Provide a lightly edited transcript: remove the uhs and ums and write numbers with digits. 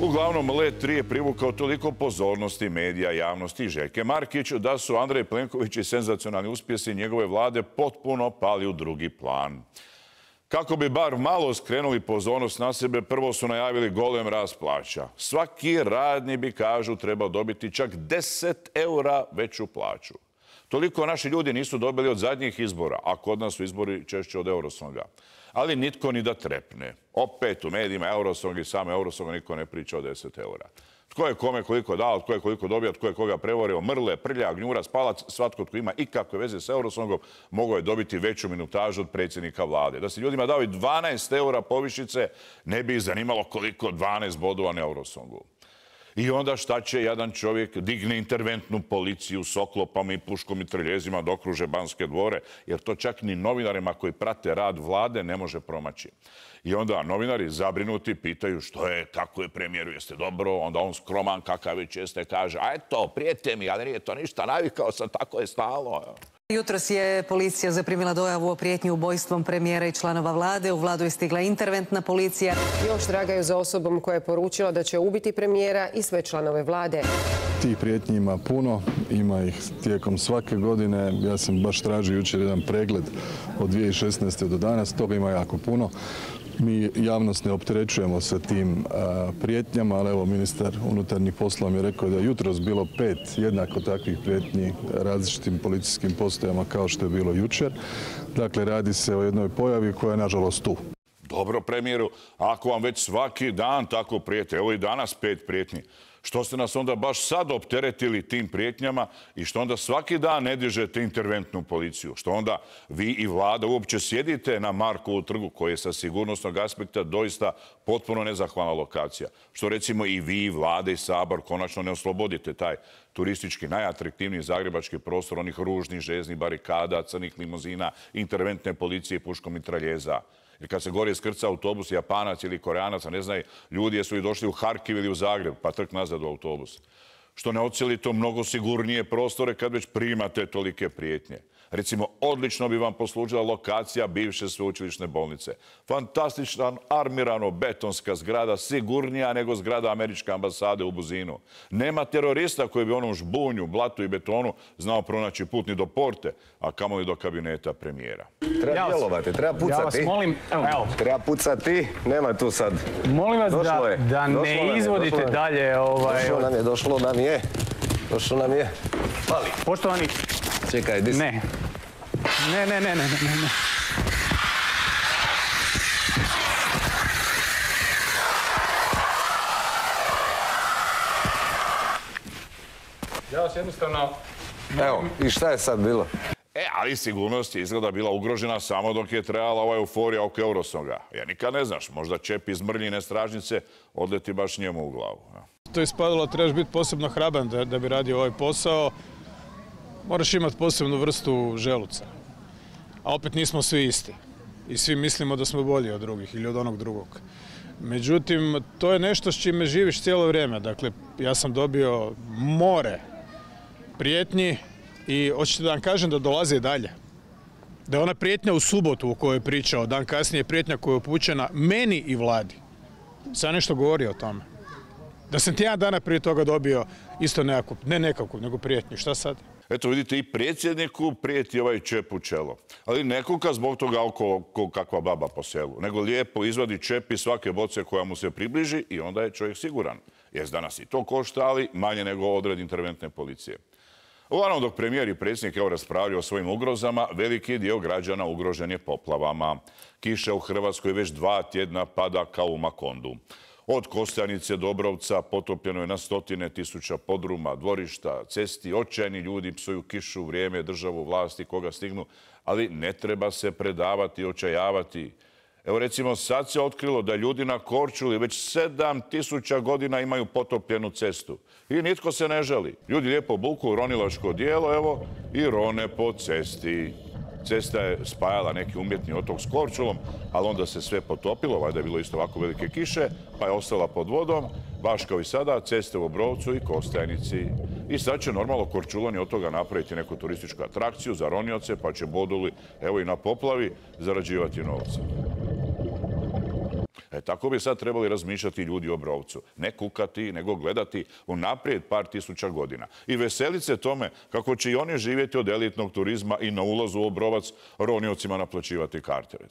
Uglavnom, Let 3 je privukao toliko pozornosti medija, javnosti i Željke Markić da su Andrej Plenković i senzacionalni uspjesi njegove vlade potpuno pali u drugi plan. Kako bi bar malo skrenuli pozornost na sebe, prvo su najavili golem rast plaća. Svaki radni bi, kažu, trebao dobiti čak 10 eura veću plaću. Toliko naši ljudi nisu dobili od zadnjih izbora, a kod nas su izbori češće od Eurosonga. Ali nitko ni da trepne. Opet u medijima Eurosong i samo Eurosonga niko ne priča o 10 eura. Tko je kome koliko dao, tko je koliko dobio, tko je koga prevorio, Mrle, Prlja, Gnjurac, Palac, svatko tko ima ikakve veze s Eurosongom mogao je dobiti veću minutažu od predsjednika vlade. Da se ljudima dao i 12 eura povišice, ne bi ih zanimalo koliko 12 bodova na Eurosongu. I onda šta će jedan čovjek digne interventnu policiju s oklopama i puškom i trljezima da okruže Banske dvore, jer to čak ni novinarima koji prate rad vlade ne može promaći. I onda novinari zabrinuti pitaju što je, kako je premijeru, jeste dobro, onda on skroman kakav već jeste kaže, a eto, prijete mi, ali nije to ništa, navikao sam, tako je stalo. Jutros je policija zaprimila dojavu o prijetnji ubojstvom premijera i članova vlade. U vladu je stigla interventna policija. Još tragaju za osobom koja je poručila da će ubiti premijera i sve članove vlade. Tih prijetnji ima puno, ima ih tijekom svake godine. Ja sam baš tražio jučer jedan pregled od 2016. do danas, toga ima jako puno. Mi javnost ne opterećujemo sa tim prijetnjama, ali evo ministar unutarnjih poslova mi je rekao da je jutros bilo 5 jednako takvih prijetnji različitim policijskim postajama kao što je bilo jučer. Dakle, radi se o jednoj pojavi koja je nažalost tu. Dobro, premijeru, ako vam već svaki dan tako prijete, evo i danas 5 prijetnji, što ste nas onda baš sad opteretili tim prijetnjama i što onda svaki dan ne dižete interventnu policiju? Što onda vi i vlada uopće sjedite na Markovu trgu, koji je sa sigurnosnog aspekta doista potpuno nezahvalna lokacija? Što recimo i vi, i vlada i sabor konačno ne oslobodite taj turistički najatraktivniji zagrebački prostor onih ružnih željeznih barikada, crnih limuzina, interventne policije i puškom mitraljeza? Jer kad se gore iskrca autobus, Japanac ili Koreanac, ne znaju ljudi jesu li došli u Harkiv ili u Zagreb, pa trk nazad u autobus. Što ne ocijelite mnogo sigurnije prostore kad već primate tolike prijetnje. Recimo, odlično bi vam poslužila lokacija bivše sveučilišne bolnice. Fantastična armirano-betonska zgrada, sigurnija nego zgrada američke ambasade u Buzinu. Nema terorista koji bi onom žbunju, blatu i betonu znao pronaći put ni do porte, a kamoli do kabineta premijera. Treba djelovati, treba pucati. Ja vas molim, evo. Treba pucati, nema tu sad. Molim vas da ne izvodite dalje Došlo nam je. Pali. Poštovani. Čekaj, di si? Ne. Ja vas jednostavno... Evo, i šta je sad bilo? Ali sigurnost je izgleda bila ugrožena samo dok je trajala ova euforija oko Eurosonga. Ja nikad ne znaš, možda čep iz Mrljine stražnice odleti baš njemu u glavu. To je ispadalo, trebaš biti posebno hraban da bi radio ovaj posao. Moraš imati posebnu vrstu želuca. A opet nismo svi isti. I svi mislimo da smo bolji od drugih ili od onog drugog. Međutim, to je nešto s čime živiš cijelo vrijeme. Dakle, ja sam dobio more prijetnji i hoćete da vam kažem da dolaze i dalje. Da je ona prijetnja u subotu o kojoj je pričao, dan kasnije prijetnja koja je upućena meni i vladi. Sad nešto govori o tome. Da sam tjedan dana prije toga dobio isto nekakvu, ne nekakvu, nego prijetnju. Šta sad? Eto vidite, i predsjedniku prijeti ovaj čep u čelo. Ali ne kuka zbog toga oko kakva baba po selu, nego lijepo izvadi čep iz svake boce koja mu se približi i onda je čovjek siguran. Jer danas i to košta, ali manje nego odred interventne policije. Uglavnom, dok premijer i predsjednik raspravljaju o svojim ugrozama, veliki dio građana ugrožen je poplavama. Kiša u Hrvatskoj već 2 tjedna pada kao u Makondu. Od Kostajnice do Obrovca potopljeno je na 100 tisuća podruma, dvorišta, cesti. Očajni ljudi psuju kišu, vrijeme, državu, vlasti, koga stignu, ali ne treba se predavati i očajavati. Evo recimo sad se otkrilo da ljudi na Korčuli već 7000 godina imaju potopljenu cestu. I nitko se ne žali. Ljudi lijepo buku ronilačko dijelo, evo, i rone po cesti. Cesta je spajala neki umjetni otok s Korčulom, ali onda se sve potopilo, valjda je bilo isto ovako velike kiše, pa je ostala pod vodom, baš kao i sada, ceste u Obrovcu i Kostajnici. I sad će normalno Korčulani od toga napraviti neku turističku atrakciju za ronioce, pa će boduli, evo i na poplavi, zarađivati novce. Tako bi sad trebali razmišljati ljudi u Obrovcu. Ne kukati, nego gledati unaprijed par tisuća godina. I veseliti se tome kako će i oni živjeti od elitnog turizma i na ulazu u Obrovac ronijocima naplaćivati karte, recimo.